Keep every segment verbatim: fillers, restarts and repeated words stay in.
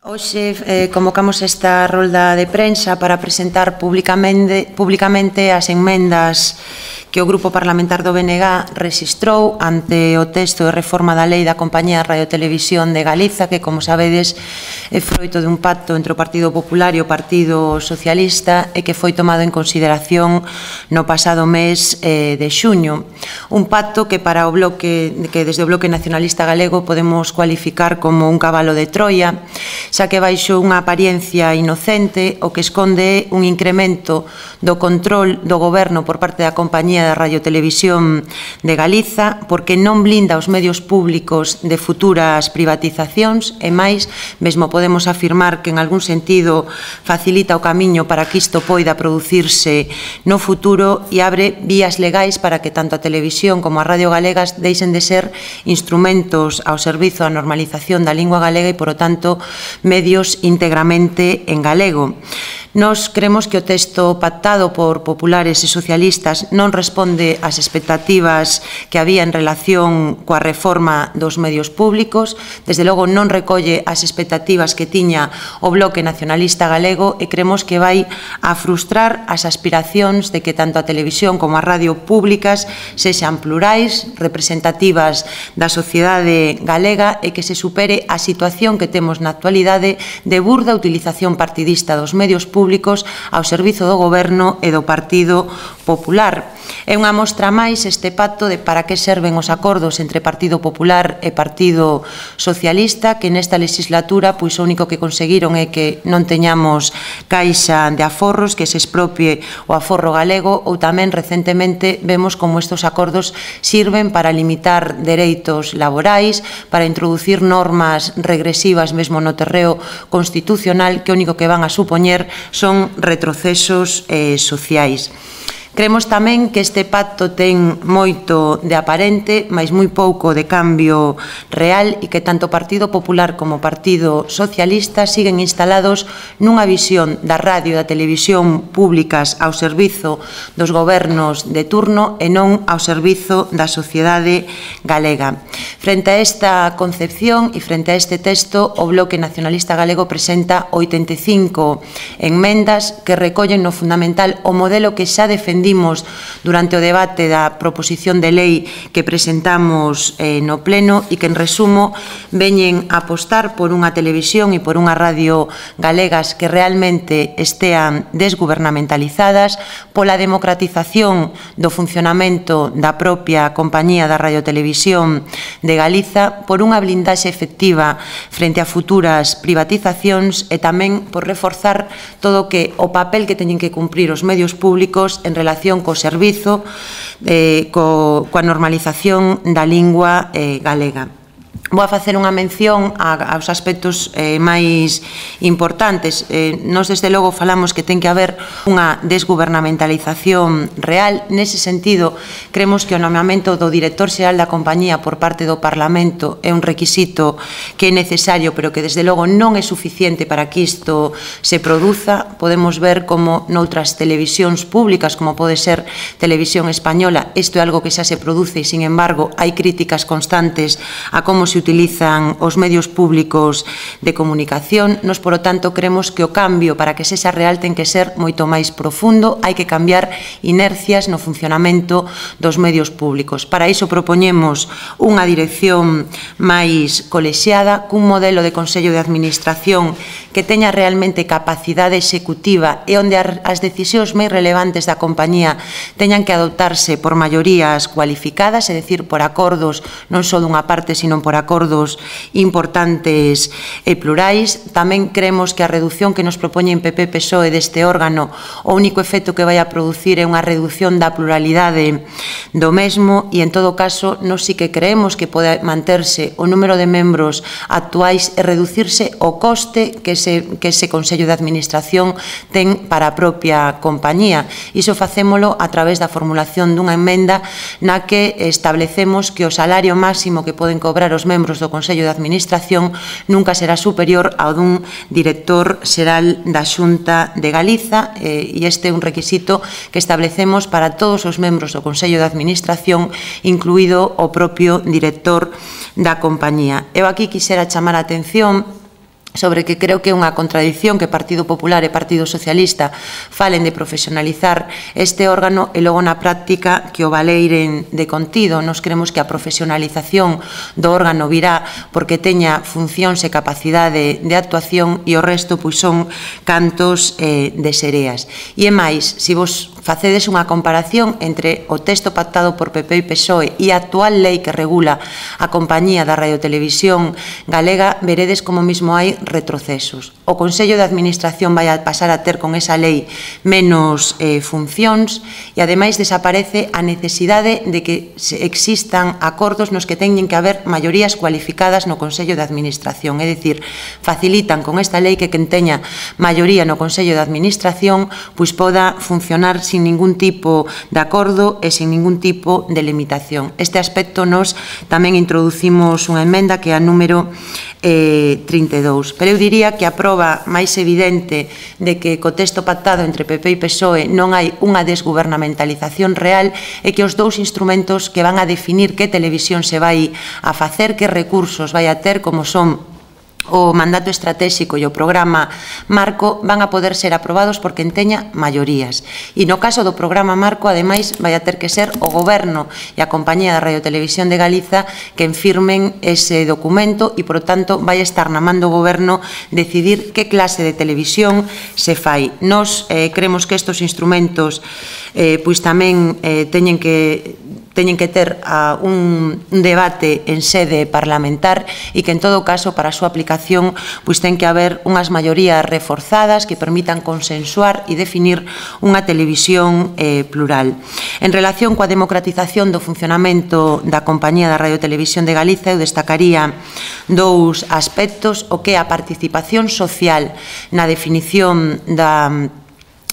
Hoxe eh, convocamos esta rolda de prensa para presentar públicamente, públicamente as enmendas que o Grupo Parlamentar do B N G rexistrou ante o texto de reforma da Lei da Compañía de Radio e Televisión de Galiza, que, como sabedes, é froito dun pacto entre o Partido Popular e o Partido Socialista e que foi tomado en consideración no pasado mes eh, de xuño. Un pacto que para o bloque, que desde o Bloque Nacionalista Galego podemos cualificar como un cabalo de Troia, xa que baixo unha apariencia inocente o que esconde un incremento do control do goberno por parte da Compañía de Radio e Televisión de Galiza, porque non blinda os medios públicos de futuras privatizacións e máis, mesmo podemos afirmar que en algún sentido facilita o camiño para que isto poida producirse no futuro e abre vías legais para que tanto a televisión como a radio galegas deixen de ser instrumentos ao servizo da normalización da lingua galega e, por o tanto, medios íntegramente en galego. Nos creemos que o texto pactado por populares e socialistas non responde ás expectativas que había en relación coa reforma dos medios públicos, desde logo non recolle as expectativas que tiña o Bloque Nacionalista Galego e creemos que vai a frustrar as aspiracións de que tanto a televisión como a radio públicas sexan plurais, representativas da sociedade galega e que se supere a situación que temos na actualidade de burda utilización partidista dos medios públicos ao servizo do Goberno e do Partido Popular. É unha mostra máis este pacto de para que serven os acordos entre Partido Popular e Partido Socialista, que nesta legislatura pois o único que conseguiron é que non teñamos caixa de aforros, que se expropie o aforro galego, ou tamén recentemente vemos como estes acordos sirven para limitar dereitos laborais, para introducir normas regresivas mesmo no terreo constitucional que o único que van a supoñer son retrocesos eh, sociais. Creemos tamén que este pacto ten moito de aparente, mais moi pouco de cambio real e que tanto o Partido Popular como o Partido Socialista siguen instalados nunha visión da radio e da televisión públicas ao servizo dos gobernos de turno e non ao servizo da sociedade galega. Frente a esta concepción e frente a este texto, o Bloque Nacionalista Galego presenta oitenta e cinco enmendas que recollen no fundamental o modelo que xa defendimos durante o debate da proposición de lei que presentamos eh, no Pleno e que, en resumo, veñen a apostar por unha televisión e por unha radio galegas que realmente estean desgubernamentalizadas, pola democratización do funcionamento da propia Compañía da Radio e Televisión de Galiza, por unha blindaxe efectiva frente a futuras privatizacións e tamén por reforzar todo o que o papel que teñen que cumprir os medios públicos en relación co servizo, eh, co, coa normalización da lingua eh, galega. Vou a facer unha mención aos aspectos eh, máis importantes. Eh, nos, desde logo, falamos que ten que haber unha desgubernamentalización real. Nese sentido, creemos que o nomeamento do director xeral da compañía por parte do Parlamento é un requisito que é necesario, pero que, desde logo, non é suficiente para que isto se produza. Podemos ver como noutras televisións públicas, como pode ser Televisión Española, isto é algo que xa se produce e, sin embargo, hai críticas constantes a como se utilizan os medios públicos de comunicación. Nos, por lo tanto, creemos que o cambio para que sexa real ten que ser moito máis profundo. Hai que cambiar inercias no funcionamento dos medios públicos. Para iso propoñemos unha dirección máis colexiada, cun modelo de Consello de Administración que teña realmente capacidade executiva e onde as decisións máis relevantes da compañía teñan que adoptarse por maiorías cualificadas, é dicir, por acordos non só dunha parte, sino por acordos importantes e plurais. Tamén creemos que a reducción que nos propoñen P P P S O E deste órgano, o único efecto que vai a producir é unha reducción da pluralidade do mesmo e, en todo caso, nos sí que creemos que pode manterse o número de membros actuais e reducirse o coste que ese, que ese Consello de Administración ten para a propia compañía. Iso facémolo a través da formulación dunha emenda na que establecemos que o salario máximo que poden cobrar os membros do Consello de Administración nunca será superior ao dun director xeral da Xunta de Galiza, e este é un requisito que establecemos para todos os membros do Consello de Administración, incluído o propio director da compañía. Eu aquí quixera chamar a atención sobre que creo que é unha contradición que Partido Popular e Partido Socialista falen de profesionalizar este órgano e logo na práctica que o valeiren de contido. Nos creemos que a profesionalización do órgano virá porque teña funcións e capacidade de actuación e o resto pois son cantos eh, de sereas. E é máis, se vos facedes unha comparación entre o texto pactado por P P e P S O E e a actual lei que regula a compañía da radiotelevisión galega, veredes como mesmo hai retrocesos. O Consello de Administración vai a pasar a ter con esa lei menos eh, funcións e ademais desaparece a necesidade de que existan acordos nos que teñen que haber maiorías cualificadas no Consello de Administración, é dicir, facilitan con esta lei que quen teña maioría no Consello de Administración pois poda funcionar sin ningún tipo de acordo e sin ningún tipo de limitación. Este aspecto nos tamén introducimos unha emenda que é a número eh, trinta e dous. Pero eu diría que a proba máis evidente de que co texto pactado entre P P e P S O E non hai unha desgubernamentalización real é que os dous instrumentos que van a definir que televisión se vai a facer, que recursos vai a ter, como son o mandato estratégico e o programa marco, van a poder ser aprobados por quen teña maiorías. E no caso do programa marco, ademais, vai a ter que ser o Goberno e a Compañía da Radiotelevisión de Galiza quen firmen ese documento e, por tanto, vai estar na man do Goberno decidir que clase de televisión se fai. Nos eh, creemos que estes instrumentos eh, pois tamén eh, teñen que teñen que ter uh, un, un debate en sede parlamentar e que, en todo caso, para a súa aplicación, pois ten que haber unhas maiorías reforzadas que permitan consensuar e definir unha televisión eh, plural. En relación coa democratización do funcionamento da Compañía da Radiotelevisión de Galiza, eu destacaría dous aspectos: o que é a participación social na definición da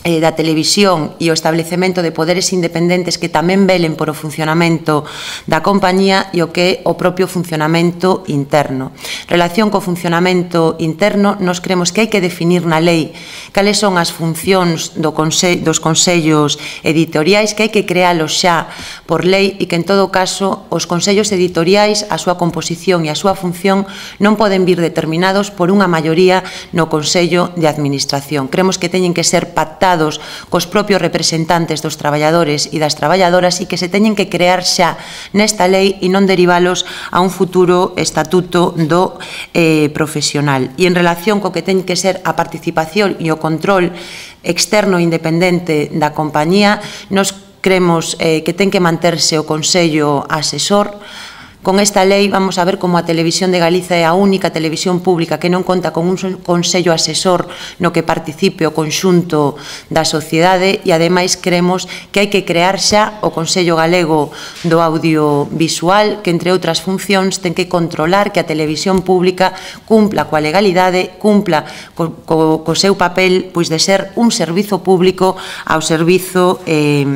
Eh, da televisión e o establecemento de poderes independentes que tamén velen por o funcionamento da compañía e o que é o propio funcionamento interno. En relación co funcionamento interno, nos creemos que hai que definir na lei cales son as funcións do conse dos consellos editoriais, que hai que crealos xa por lei e que, en todo caso, os consellos editoriais, a súa composición e a súa función non poden vir determinados por unha maioría no Consello de Administración. Creemos que teñen que ser pactados cos propios representantes dos traballadores e das traballadoras e que se teñen que crear xa nesta lei e non derivalos a un futuro estatuto do eh, profesional. E en relación co que ten que ser a participación e o control externo e independente da compañía, nos creemos eh, que ten que manterse o Consello Asesor. Con esta lei vamos a ver como a Televisión de Galiza é a única televisión pública que non conta con un consello asesor no que participe o conxunto da sociedade e, ademais, creemos que hai que crear xa o Consello Galego do Audiovisual, que, entre outras funcións, ten que controlar que a televisión pública cumpla coa legalidade, cumpla co, co, co seu papel pois de ser un servizo público ao servizo eh,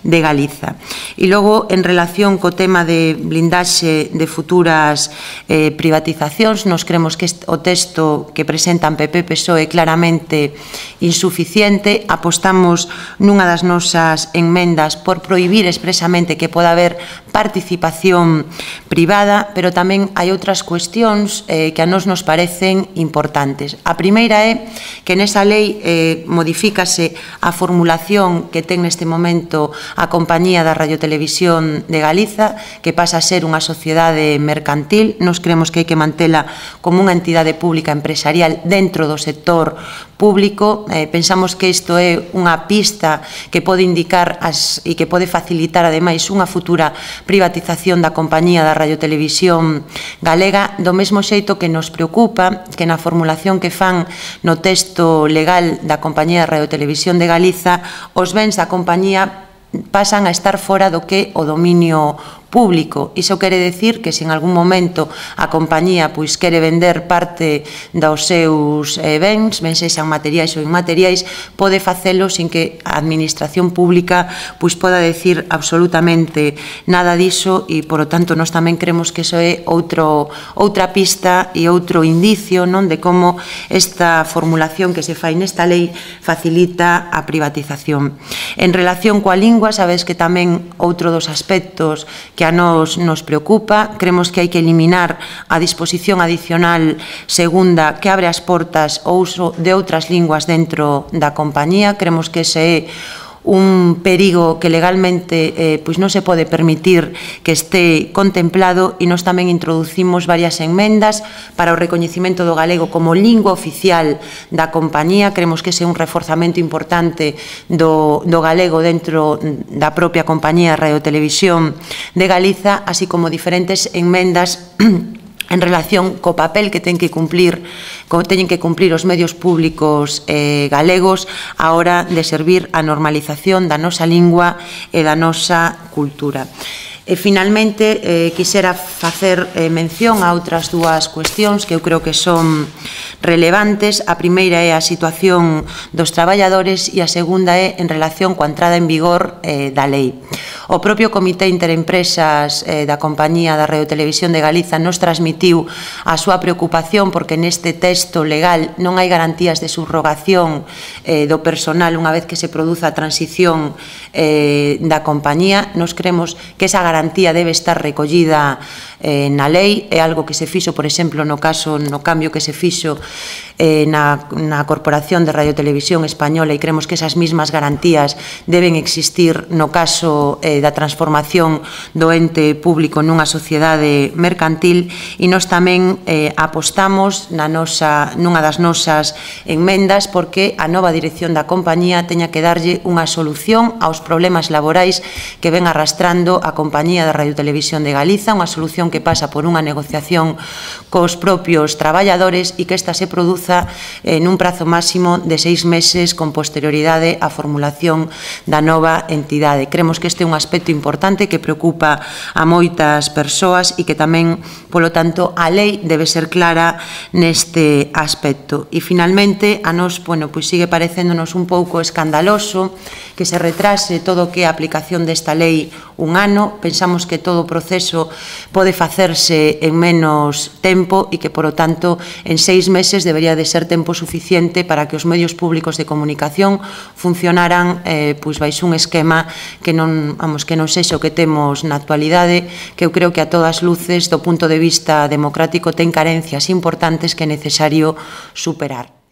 de Galiza. E logo, en relación co tema de blindaxe de futuras eh, privatizacións, nos creemos que o texto que presentan P P e P S O E é claramente insuficiente. Apostamos nunha das nosas enmendas por prohibir expresamente que poda haber participación privada, pero tamén hai outras cuestións eh, que a nos nos parecen importantes. A primeira é que nesa lei eh, modifícase a formulación que ten neste momento a Compañía da Radiotelevisión de Galiza, que pasa a ser unha sociedade sociedade mercantil. Nos creemos que hai que mantela como unha entidade pública empresarial dentro do sector público. Eh, pensamos que isto é unha pista que pode indicar as, e que pode facilitar, ademais, unha futura privatización da Compañía da Radiotelevisión Galega, do mesmo xeito que nos preocupa que na formulación que fan no texto legal da Compañía da Radiotelevisión de Galiza os bens da compañía pasan a estar fora do que o dominio público. Iso quere decir que se en algún momento a compañía pois quere vender parte dos seus eh, bens, ben sexan materiais ou inmateriais, pode facelo sin que a administración pública pois poda decir absolutamente nada diso e, por lo tanto, nós tamén creemos que iso é outro, outra pista e outro indicio, non, de como esta formulación que se fai nesta lei facilita a privatización. En relación coa lingua, sabes que tamén outro dos aspectos que que a nos nos preocupa. Creemos que hai que eliminar a disposición adicional segunda que abre as portas ao uso de outras linguas dentro da compañía. Creemos que ese é un perigo que legalmente eh, pois non se pode permitir que este contemplado, e nos tamén introducimos varias enmendas para o recoñecimento do galego como lingua oficial da compañía. Creemos que ese é un reforzamento importante do, do galego dentro da propia compañía Radio Televisión de Galiza, así como diferentes enmendas en relación co papel que ten que cumplir, teñen que cumplir os medios públicos eh, galegos á hora de servir a normalización da nosa lingua e da nosa cultura. E, finalmente, eh, quixera facer eh, mención a outras dúas cuestións que eu creo que son relevantes. A primeira é a situación dos traballadores e a segunda é en relación coa entrada en vigor eh, da lei. O propio Comité Interempresas eh, da Compañía da Radio Televisión de Galiza nos transmitiu a súa preocupación porque neste texto legal non hai garantías de subrogación eh, do personal unha vez que se produza a transición eh, da compañía. Nos creemos que esa garantía debe estar recollida eh, na lei. É algo que se fixo, por exemplo, no caso, no cambio que se fixo eh, na, na Corporación de Radio Televisión Española, e creemos que esas mismas garantías deben existir no caso eh, da transformación do ente público nunha sociedade mercantil. E nós tamén eh, apostamos na nosa, nunha das nosas enmendas porque a nova dirección da compañía teña que darlle unha solución aos problemas laborais que ven arrastrando a compañía da Radio Televisión de Galiza, unha solución que pasa por unha negociación cos propios traballadores e que esta se produza en un prazo máximo de seis meses con posterioridade á formulación da nova entidade. Creemos que este é un aspecto importante que preocupa a moitas persoas e que tamén, polo tanto, a lei debe ser clara neste aspecto. E, finalmente, a nos, bueno, pois sigue parecéndonos un pouco escandaloso que se retrase todo o que é a aplicación desta lei un ano. Pensamos que todo o proceso pode facerse en menos tempo e que, por lo tanto, en seis meses debería de ser tempo suficiente para que os medios públicos de comunicación funcionaran eh, pois baixo un esquema que non, vamos, que non sexa o que temos na actualidade, que eu creo que a todas luces, do punto de vista democrático, ten carencias importantes que é necesario superar.